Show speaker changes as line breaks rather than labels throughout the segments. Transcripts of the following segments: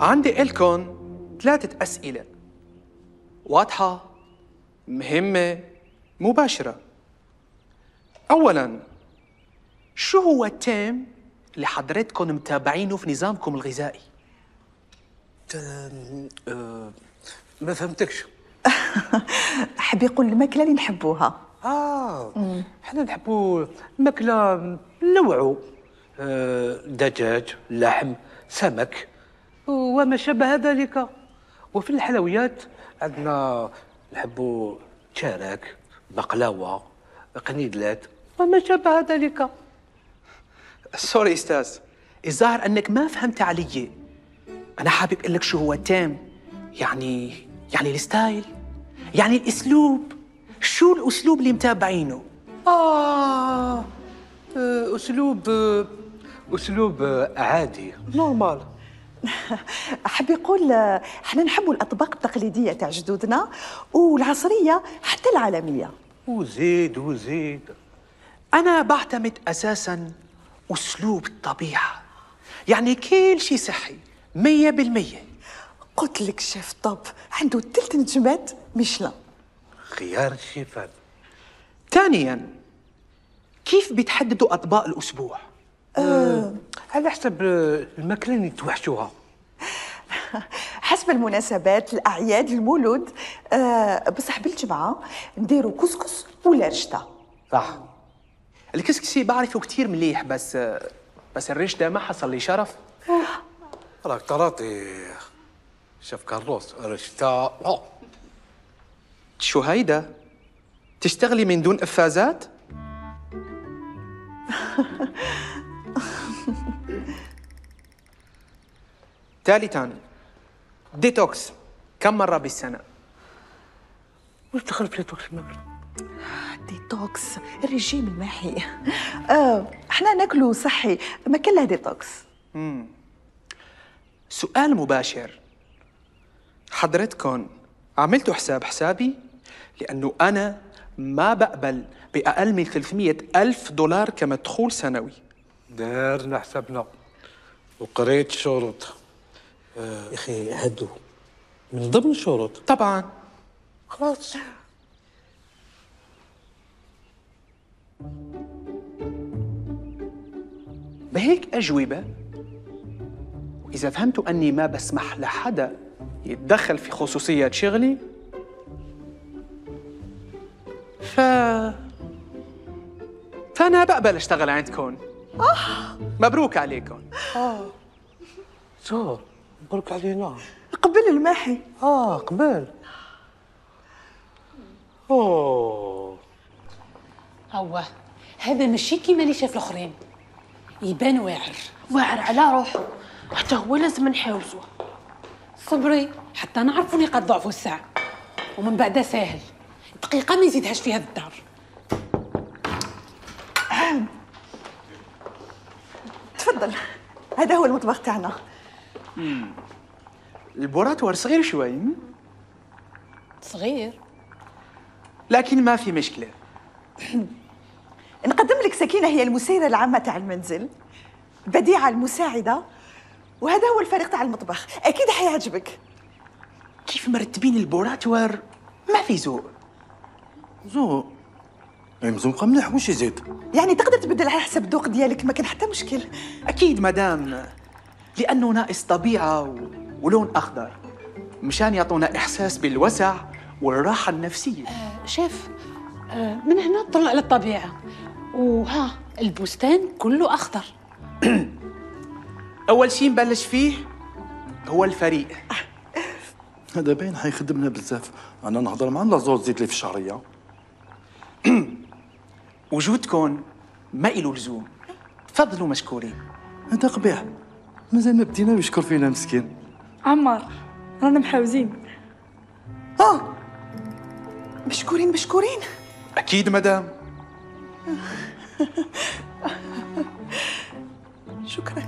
عندي إلكن 3 أسئلة واضحة، مهمة، مباشرة. أولاً، شو هو التيم اللي حضرتكم متابعينه في نظامكم الغذائي؟
ما فهمتكش.
حب يقول الماكله اللي نحبوها.
حنا نحبوا الماكله نوعو، دجاج، لحم، سمك وما شابه ذلك. وفي الحلويات عندنا نحبوا شارك، بقلاوه، قنيدلات وما شابه ذلك.
سوري أستاذ، الظاهر أنك ما فهمت علي. أنا حابب أقول لك شو هو التيم. يعني الستايل، يعني الأسلوب. شو الأسلوب اللي متابعينه؟
أسلوب عادي، نورمال.
حب يقول احنا نحبوا الاطباق التقليديه تاع جدودنا والعصريه حتى العالميه.
وزيد.
أنا بعتمد أساساً أسلوب الطبيعة، يعني كل شيء صحي 100%.
قلت لك شيف طب عنده 3 نجمات ميشلان.
خيار الشيفان.
ثانياً، كيف بتحددوا أطباق الأسبوع؟
على حسب الماكله اللي توحشوها.
حسب المناسبات، الاعياد، المولود. بصح بالجمعه نديروا كسكس ولا رشته.
صح.
الكسكسي بعرفه كتير مليح، بس الريش ده ما حصل لي شرف.
راك طراطي شيف كارلوس رشتا.
شو هيدا؟ تشتغلي من دون إفازات؟ ثالثاً، ديتوكس كم مرة بالسنة؟
وش دخل في ديتوكس الماكل؟
ديتوكس الرجيم الماحي. احنا ناكلوا صحي، ما كلها ديتوكس.
سؤال مباشر، حضرتكم عملتوا حسابي؟ لأنه أنا ما بقبل بأقل من $300,000 كمدخول سنوي.
دارنا حسابنا وقريت الشروط. يا أخي هادو من ضمن الشروط.
طبعاً.
خلاص.
بهيك أجوبة، وإذا فهمتوا أني ما بسمح لحدا يتدخل في خصوصيات شغلي، فأنا بقبل أشتغل عندكم. مبروك عليكم.
شو مبروك علينا.
قبل الماحي.
قبل.
هو هذا ماشي كيما اللي شاف الاخرين، يبان واعر
على روحه، حتى هو لازم نحاوزوه.
صبري حتى نعرفوا نقاط ضعفه الساعه، ومن بعدها ساهل دقيقه ما يزيدهاش في هذا الدار.
تفضل، هذا هو المطبخ تاعنا.
البوراتوار صغير شوي،
صغير
لكن ما في مشكلة.
نقدم لك سكينة، هي المسيرة العامة تاع المنزل، بديعة المساعدة، وهذا هو الفريق تاع المطبخ. أكيد حيعجبك.
كيف مرتبين البوراتوار؟ ما في ذوق.
ذوق؟ مزوقة مليح، وش يزيد؟
يعني تقدر تبدل على حسب الذوق ديالك، ما كان حتى مشكل.
أكيد مدام، لأنه ناقص طبيعة ولون أخضر، مشان يعطونا إحساس بالوسع والراحة النفسية.
شيف، من هنا طلع للطبيعه، وها البستان كله اخضر.
أول شيء نبلش فيه هو الفريق.
هذا باين حيخدمنا بزاف. أنا نهضر مع لازوت زيت لي في الشهرية.
وجودكم ما إله لزوم، تفضلوا مشكورين.
هذا قبيح، مازال ما بدينا ويشكر فينا مسكين.
عمار، رانا محاوزين.
مشكورين.
أكيد مدام.
شكرا.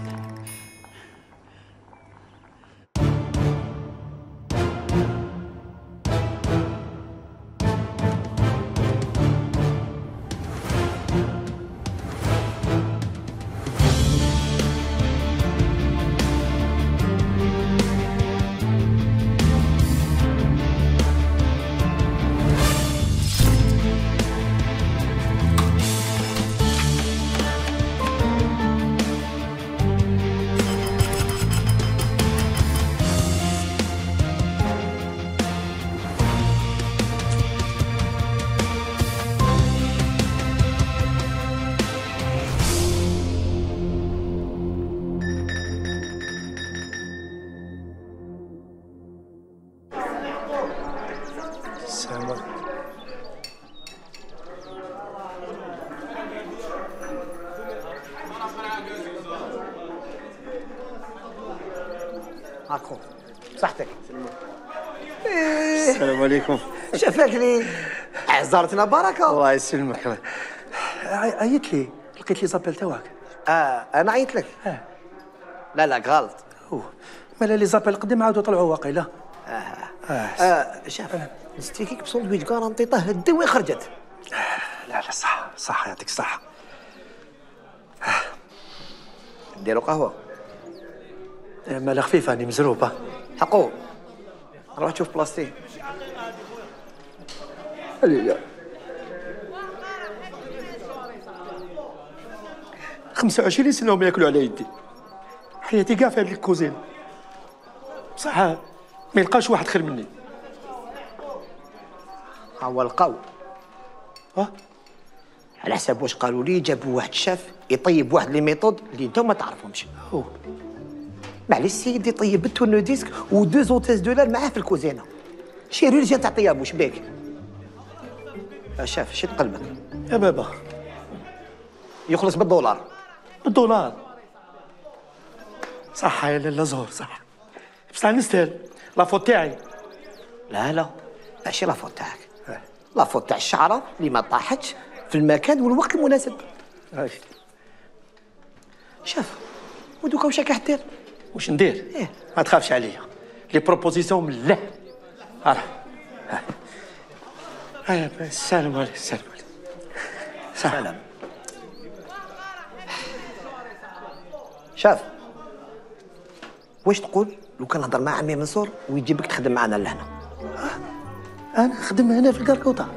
السلام عليكم.
هاكو صحتك.
السلام عليكم.
شافاك لي زارتنا بركه.
الله يسلمك. عيط لي، لقيت لي زابيل تاعك.
انا عيطت لك. لا لا غلط.
مالا لي زابيل قديم عاودوا طلعوا واقيلا.
شاف نسيت فيك بسندويش كارانتي طه الدواء خرجت.
لا لا صح صح يعطيك الصحة.
نديرو قهوه.
مالا خفيفة راني مزروبة.
حقو روح تشوف بلاصتي.
لا 25 سنة وما ياكلوا على يدي. حياتي كاع في هذيك الكوزين. بصح ما يلقاش واحد خير مني.
هو لقاو. على حساب واش قالوا لي جابوا واحد الشاف يطيب واحد لي ميثود اللي انتم ما تعرفهمش. معليش سيدي يطيب التورنو ديسك و2 زوتيز دولار معاه في الكوزينه. شيري رجال تاع طياب واش بيك؟ شاف شد قلبك
يا بابا
يخلص بالدولار.
بالدولار. صح يا لاله زهور صح. بصح نستاهل لافوت تاعي.
لا لا ماشي لافوت تاعك. لافوت تاع الشعره اللي ما طاحتش في المكان والوقت المناسب. شاف ودوكا واش راك حدير؟
واش ندير؟ ما تخافش عليا. لي بروبوزيسيون من الله. السلام عليكم. السلام عليكم.
سلام. شاف واش تقول لو كان نهضر مع عمي منصور ويجيبك تخدم معنا لهنا؟
انا نخدم هنا في الكركوطه.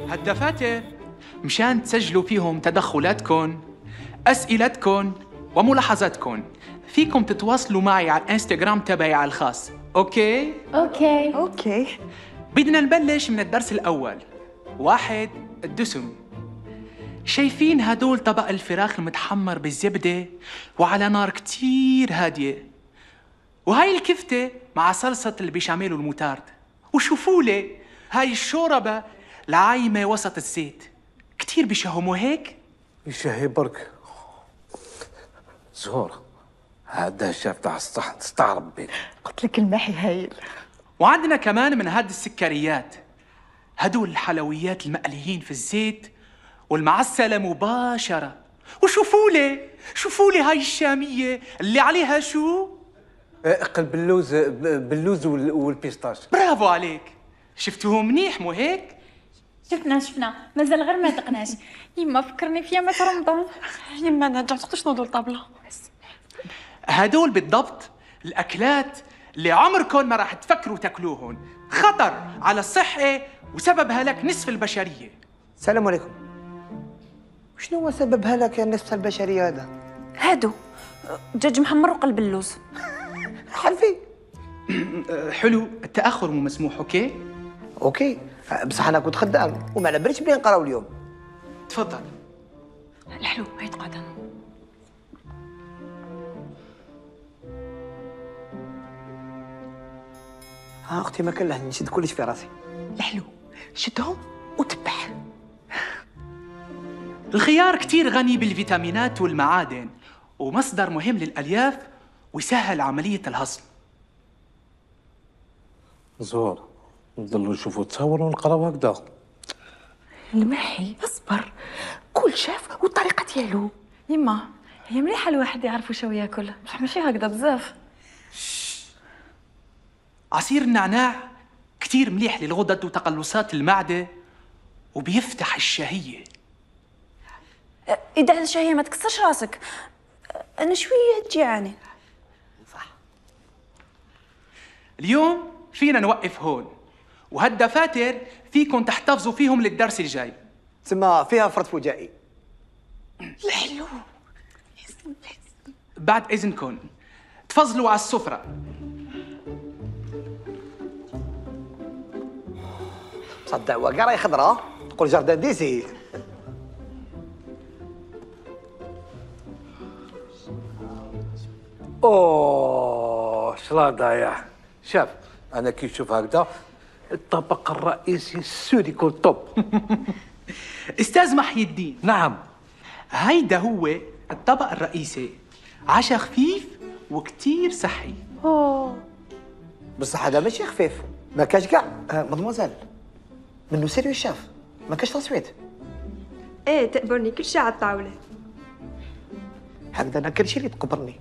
هالدفاتر مشان تسجلوا فيهم تدخلاتكم، اسئلتكم وملاحظاتكم. فيكم تتواصلوا معي على الانستغرام تبعي على الخاص. اوكي؟
اوكي.
بدنا نبلش من الدرس الاول. 1 الدسم. شايفين هدول طبق الفراخ المتحمر بالزبدة وعلى نار كتير هادية، وهاي الكفتة مع صلصة البيشاميل والموتارد، وشوفوا لي هاي الشوربة العايمة وسط الزيت. كتير بيشهموا هيك؟
يشهي برك. زهور هذا الشاف تاع الصحن استغرب بيه.
قلت لك المحي هايل.
وعندنا كمان من هاد السكريات، هدول الحلويات المقليين في الزيت والمعسلة مباشرة. وشوفوا لي هاي الشامية اللي عليها شو؟
قلب باللوز والبيستاش.
برافو عليك. شفتوهم منيح مو هيك؟
شفنا مازال غير ما دقناش. يما فكرني في يامات رمضان.
يما انا رجعت شنو دول طابله.
هدول بالضبط الأكلات اللي عمركم ما راح تفكروا تاكلوهن. خطر على الصحة وسبب هلاك نصف البشرية.
السلام عليكم. شنو هو سبب هلاك النصف البشريه هذا؟
هادو دجاج محمر وقلب اللوز.
حلفي.
حلو، التأخر مو مسموح.
اوكي بصح انا كنت خدام وما على باليش بلي نقراو اليوم.
تفضل.
الحلو هاي تقعد.
اختي ما كان له نشد كلش في راسي.
الحلو شدهم وتبع.
الخيار كتير غني بالفيتامينات والمعادن ومصدر مهم للألياف ويسهل عملية الهضم.
زهور نضلوا نشوفوا تصور ونقراو هكذا.
المحي اصبر، كل شاف والطريقه ديالو.
يما هي مليحه الواحد يعرف واش هو ياكل، بصح ماشي هكذا بزاف.
عصير النعناع كتير مليح للغدد وتقلصات المعدة وبيفتح الشهية.
إذا الشهية ما تكسرش راسك، أنا شوية تجيعاني.
صح.
اليوم فينا نوقف هون، وهالدفاتر فيكم تحتفظوا فيهم للدرس الجاي.
تسمى فيها فرط فجائي.
الحلو
بعد إذنكم تفضلوا على السفرة.
صدق وقراي خضراء تقول جاردان ديسي. اوه
شلاضة يا شاف. انا كي نشوف هكذا الطبق الرئيسي السود يكون طب.
استاذ محي الدين،
نعم.
هيدا هو الطبق الرئيسي، عشاء خفيف وكتير صحي.
بصح هذا ماشي خفيف، ما كاش كاع. مدموزيل منو سيريو الشاف، ما كاش تصويت.
ايه تقبرني كل شيء على الطاولة.
هكذا انا كل شيء اللي تقبرني.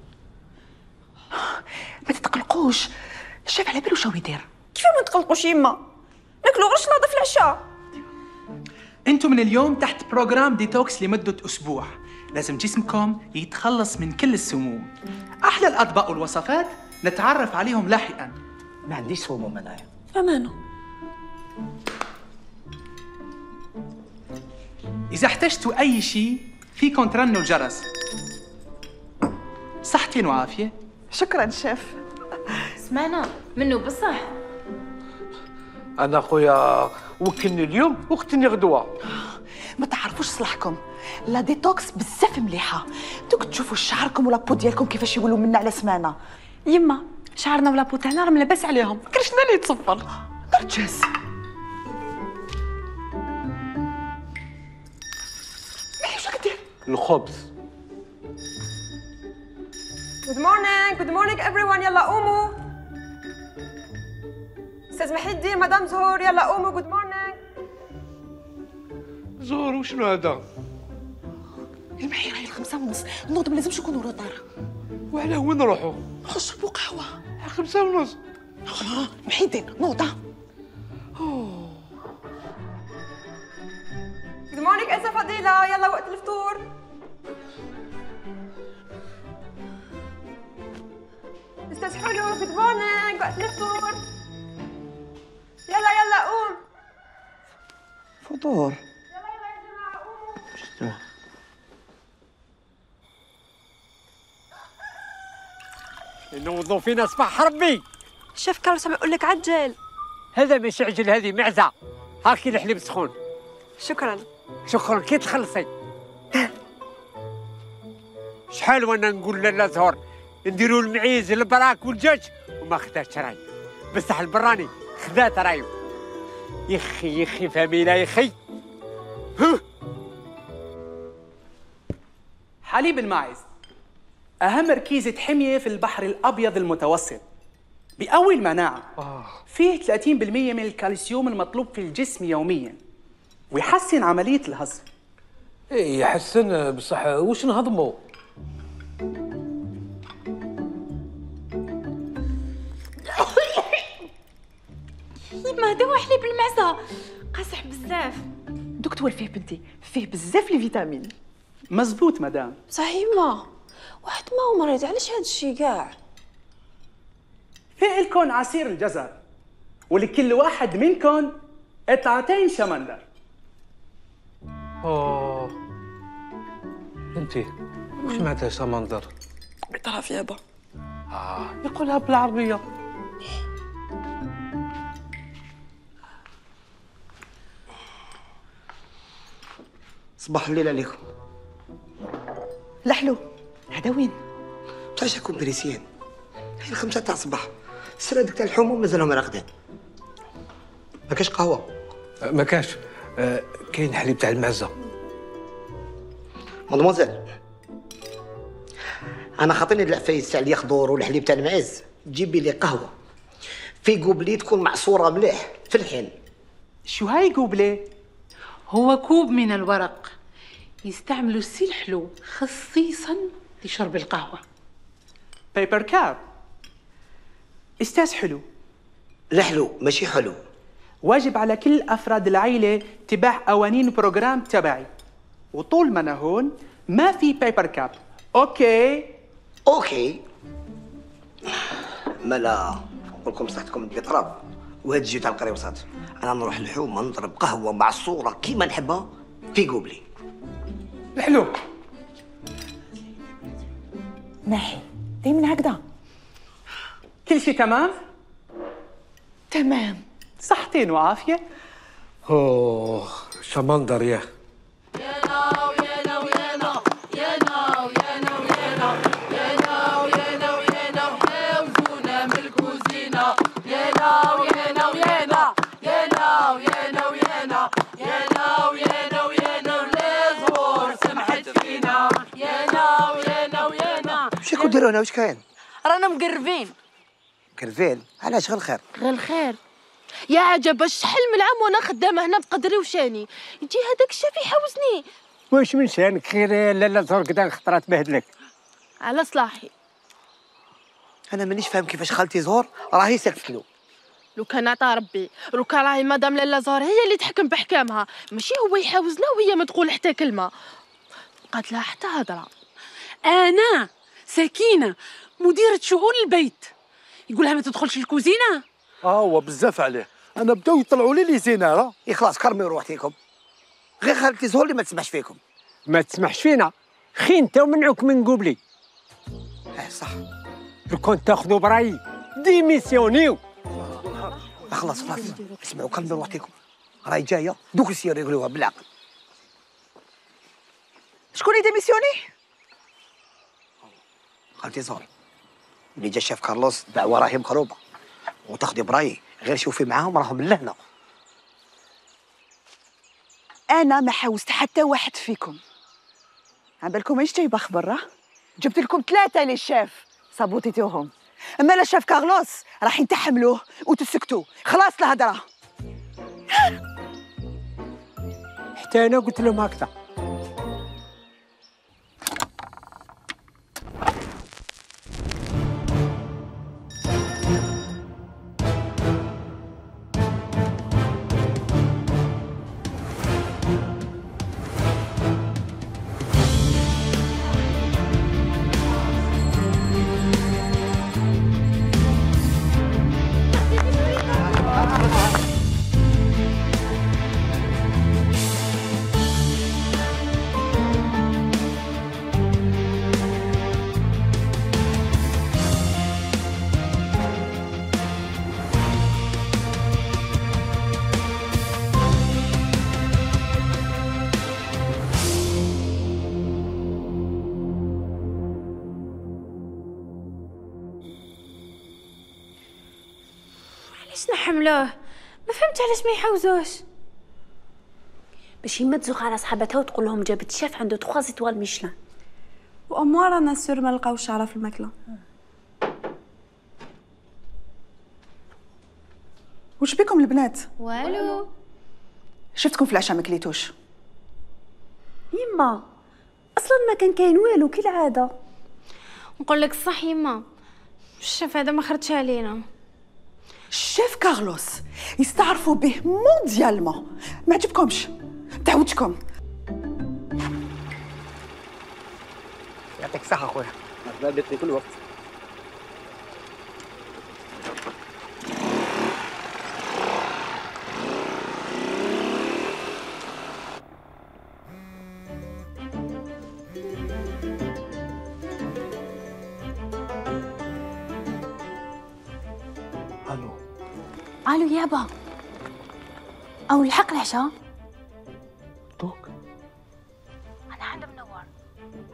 ما تتقلقوش، الشيف على باله شو يدير.
كيف ما تقلقوش يما؟ ناكلوا غير شلاضة في العشاء.
انتم من اليوم تحت بروجرام ديتوكس لمدة أسبوع، لازم جسمكم يتخلص من كل السموم. أحلى الأطباق والوصفات نتعرف عليهم لاحقاً.
ما عنديش سموم انايا.
أمانة.
إذا احتجتوا أي شيء فيكم ترنوا الجرس. صحتين وعافية.
شكرا شيف.
سمعنا منو بصح؟
انا خويا وكلني اليوم وقتني غدوه.
ما تعرفوش صلاحكم، لا ديتوكس بزاف مليحه. دوك تشوفوا شعركم ولابو ديالكم كيفاش يولوا منا على سمانه.
يما شعرنا ولابو تاعنا راه لاباس عليهم، كرشنا اللي يتصفر.
نرجس. واش كدير؟
الخبز.
Good morning everyone. يلا قوموا. استاذ محي الدين، مدام زهور، يلا قوموا. Good morning.
زهور وشنو هذا؟
المحي راهي 5:30، نوض ما لازمش نكونوا روطار.
وعلى وين نروحوا؟
نشربوا قهوه.
5:30.
محي الدين نوض.
Good morning أنسة فضيلة، يلا وقت الفطور. استاذ حلو، Good morning، وقت الفطور. يلا قوم.
فطور.
يلا يا جماعة قوموا.
نوضوا فينا صباح ربي.
الشيف كارلوس عم يقول لك عجل.
هذا مش عجل، هذه معزة. هاكي الحليب سخون.
شكرا.
شكرا كي تخلصي. شحال وانا نقول لالا زهور نديروا المعيز البراك والدجاج وما خداتش راي، بصح البراني خدات رايو. يخي فاميلا يخي.
حليب الماعز أهم ركيزة حمية في البحر الأبيض المتوسط، بقوي المناعة. فيه 30% من الكالسيوم المطلوب في الجسم يومياً، ويحسن عملية الهضم.
ايه يحسن، بصح واش نهضموا؟
يما هذا هو حليب المعزة، قاصح بزاف.
دكتور فيه بنتي، فيه بزاف لي فيتامين.
مزبوط مدام.
صح يما، واحد ما هو مريض علاش هاد الشي كاع؟
في إلكن عصير الجزر، ولكل واحد منكم قطعتين شمندر.
اوه انتي وش معناتها سمندر؟
بتعرف يابا.
يقولها بالعربية.
صباح الليل عليكم.
لحلو، هذا وين؟
تعشاكم بريسيان. هاي 5 تاع الصباح، السرادك تاع الحموم مازالهم راقدين. ما كاش قهوه؟
ما كاش. كاين حليب تاع المعزه.
مدموزيل، انا خاطيني العفايس تاع اليخضر والحليب تاع المعز، جيبي لي قهوه في قوبلي تكون معصوره مليح في الحين.
شو هاي قوبلة؟
هو كوب من الورق يستعملوا السي الحلو خصيصا لشرب القهوة.
بيبر كاب. استاذ حلو،
الحلو ماشي حلو.
واجب على كل أفراد العيلة اتباع قوانين البروجرام تبعي، وطول ما أنا هون ما في بيبر كاب.
اوكي ملا نقول لكم صحتكم البطراب وهاد الجو تاع القريوصات. انا نروح الحومه نضرب قهوه معصوره كيما نحبها في قوبلي.
الحلو
ناحي دايما هكذا.
كل شيء تمام؟
تمام.
صحتين وعافية.
اوه شمندر يا
راكم ديروا هنا واش كاين؟
رانا مقربين.
كرفين علاش؟ غير الخير.
غير الخير. يا عجب شحال من عام وانا خدامه هنا بقدري وشاني، يجي هذاك الشاف يحوزني.
واش من شانك خير لاله زهر كدا خطرات بهدلك؟
على صلاحي.
انا مانيش فاهم كيفاش خالتي زهور راهي سكتت له.
لو كان عطا ربي، لو كان راهي مدام لاله زهر هي اللي تحكم بحكامها، ماشي هو يحاوزنا وهي ما تقول حتى كلمه. بقات لها حتى هضره.
انا سكينه مديره شؤون البيت، يقولها ما تدخلش الكوزينه.
هو بزاف عليه، انا بداو يطلعوا لي زيناره.
يا خلاص كرمي روحتيكم، غير خالتي زهور اللي ما تسمعش فيكم.
ما تسمحش فينا خي انت ومنعوك من قبلي.
صح.
لو كنت تاخذوا برايي ديميسيونيو.
خلاص اسمعوا كرمي روحتيكم، راهي جايه دوك السير يقولوها بالعقل.
شكون اللي ديميسيوني؟
خالتي زهور. اللي جا شاف كارلوس دعوه راهي مقروبه، وتاخذي برايي غير شوفي معاهم راهم من لهنا.
انا ما حوزت حتى واحد فيكم. عبالكم ايش جايبه خبر؟ جبت لكم 3 للشاف صابوتيتوهم، اما لا شاف كارلوس راح تحملوه وتسكتوا. خلاص الهضره.
حتى انا قلت لهم هكذا.
علاش نحملوه؟ ما فهمت علاش ما يحوزوش.
باش يما تزوق على صحابتها وتقول لهم جابت شاف عنده 3 زيتوال ميشلان.
واموار انا سور ما لقاوش شعره في الماكله.
وش بكم البنات؟
والو.
شفتكم في العشاء ما كليتوش.
يما اصلا ما كان كاين والو كالعاده.
نقول لك الصح يما، الشاف هذا ما خرجش علينا.
الشيف كارلوس يستعرفوا به مونديالمون. ما عجبكمش؟ تعودتكم.
يعطيك الصحه خويا.
مرحبا بك في كل وقت.
الو يابا، او الحق العشاء.
دوك
انا عند منور.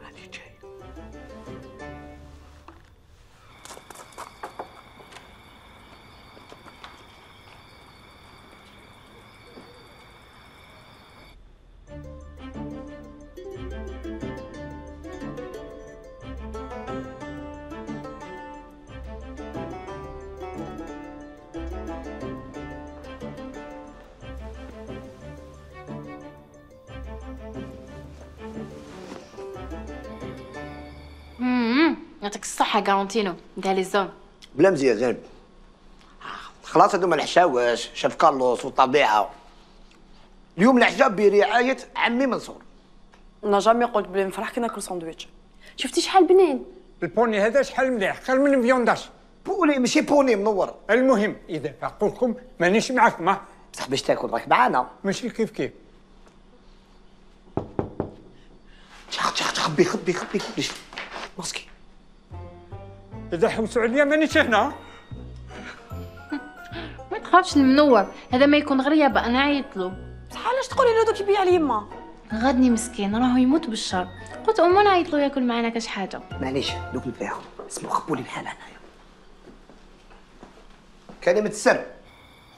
هاني جاي.
يعطيك الصحة كارونتينو، نتاع لي زون.
بلا مزيان زين. خلاص هذوما الحشاوش، شاف كارلوس والطبيعة. اليوم العشاء برعاية عمي منصور.
انا جامي قلت بلي نفرح كي ناكل ساندويتش.
شفتي شحال بنين؟
البوني هذا شحال مليح، خير من الفيونداش.
بوني ماشي بوني منور.
المهم اذا عقولكم مانيش معكم.
بصح باش تاكل راك معانا.
ماشي كيف كيف.
خبي خبي خبي كلش ماسكي.
اذا حوسوا عليا مانيش هنا.
ما تخافش المنور، هذا ما يكون غير يابا انا عيطلو.
بصح علاش تقولي له دوك يبيع لي يما؟
غادني مسكين راهو يموت بالشر، قلت امو نعيطلو ياكل معنا كاش حاجه.
معليش دوك نبيعهم، اسمعوا خبوا لي بحال هنايا. كلمة السر.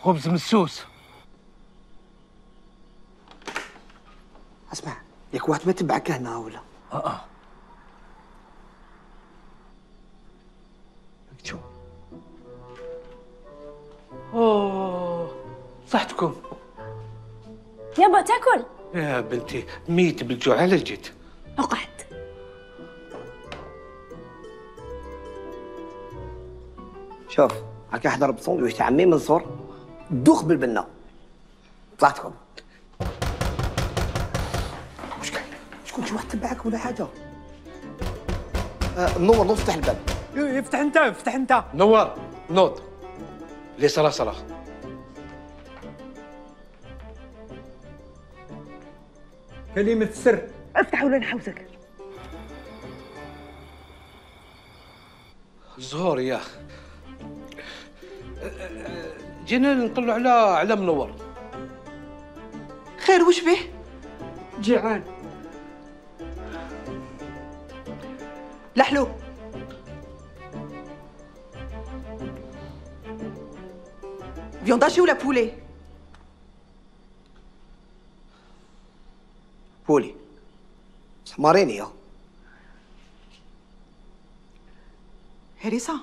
خبز مسوس.
اسمع، ياك واحد ما تبعك هنا ولا؟
اوه صحتكم.
يابا تاكل؟
يا بنتي ميت بالجوع، على جيت.
اقعد.
شوف هاكا حضر بسندويش تاع عمي منصور دوخ بالبنه. طلعتكم واش كاين؟ شكون شي واحد تبعك ولا حاجه؟ منور نوض فتح الباب.
افتح انت افتح انت.
نور نوض لي صلاة
كلمة السر.
افتح ولا نحوسك.
زهور يا جينا نطلعوا على منور.
خير وش به؟
جيعان.
لحلو. فيونداشي ولا بولي؟
بولي حماريني يا
هريسة.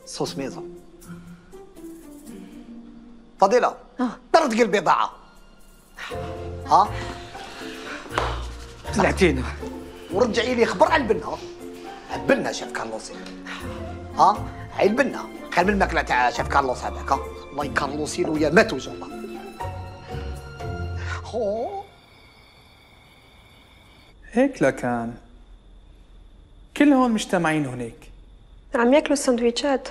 صوص ميزة. فضيلة طرد قلبي ضاعة. ها
طلعتينا
ورجعي لي خبر على البنة. البنة شاف كارلوس. ها هاي البنة كان من الماكلة تاع شاف كارلوس هذاك. الله يكارلوسي له يا مات وجه الله.
هيك لكان كلهم مجتمعين هناك.
عم ياكلوا السندويتشات.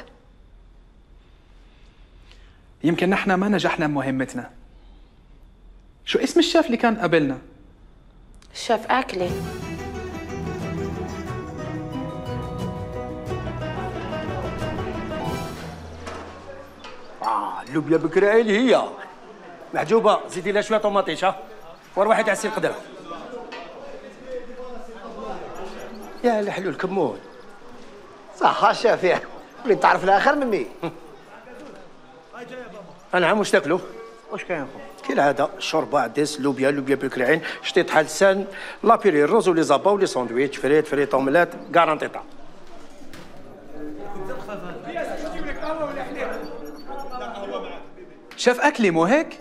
يمكن نحن ما نجحنا بمهمتنا. شو اسم الشيف اللي كان قبلنا؟
الشيف أكلي.
اللوبيا بكراعين هي محجوبه. زيدي لها شويه طوماطيش. ور واحد عسير قدره. يا الحلول كمون.
صح الشافع اللي تعرف الاخر مني.
نعم واش تاكلوا؟ واش كاين خو؟ كالعاده شوربه عدس لوبيا بالكراعين شطيط حلسان لابيري الروز ولي زابا ولي ساندويتش فريت اومليت كارانتيطا.
شيف أكلي مو هيك؟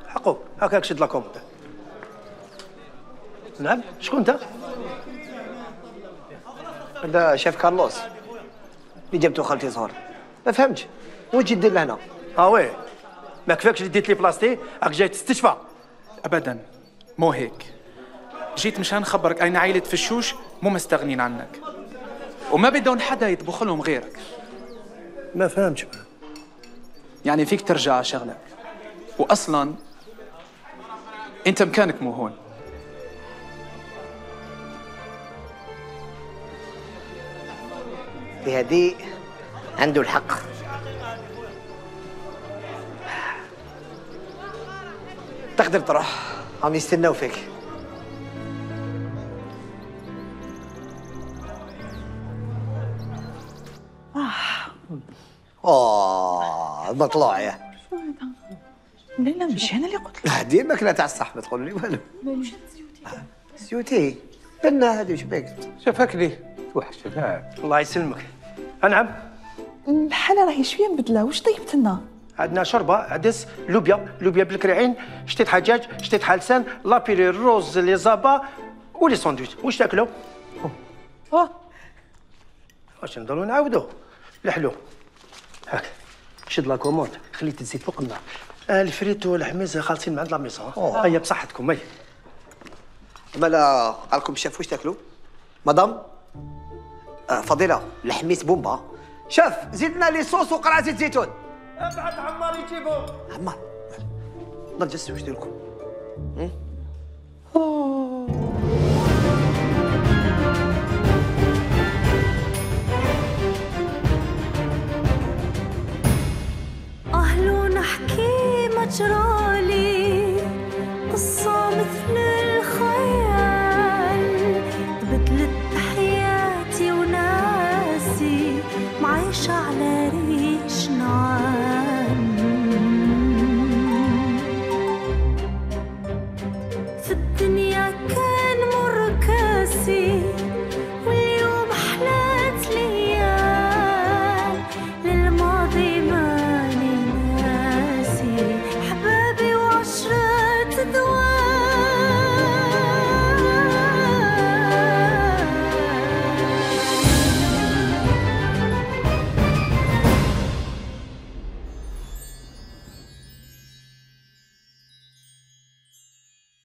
حقوق هكاك شد لاكوموند. نعم شكون انت؟
هذا شيف كارلوس اللي جبتو خالتي زهور. ما فهمتش واش تجي دير لهنا؟
وي ما كفاكش اللي ديت لي بلاصتي راك جاي تستشفى.
أبدا مو هيك. جيت مشان نخبرك أين عائلة فشوش مو مستغنين عنك وما بدهم حدا يطبخ لهم غيرك.
ما فهمتش.
يعني فيك ترجع على شغلك، وأصلا أنت مكانك مو هون.
بهدي عنده الحق. تقدر تروح، عم يستناو فيك. المطلوع يا
لا لا مش انا اللي قلت
لا دي الماكله تاع الصح ما تقول لي والو. سيوتي بنا هذه وش بك؟
شافك ليه توحش.
الله يسلمك. نعم
الحالة راهي شوية مبدلة. واش طيبت لنا؟
عندنا شوربه عدس لوبيا بالكراعين شتيت حجاج شتيت حلسان لابيري الروز لي زابا ولي ساندويتش. واش تاكلوا؟ واش نضلوا نعاودوا؟ الحلو هاك شد لا كوموند خليت الزيت فوق النار. الفريتو والحميز خالصين من عند لا ميسون. هيا بصحتكم. هيا
مالا قالكم الشيف واش تاكلوا؟ مدام فضيله الحميس بومبا. شاف زيدنا لي صوص وقرع زيت زيتون.
ابعد عمار يجيبو.
عمار نرجس واش ديركم؟
أهل نحكي مجرالي قصة مثل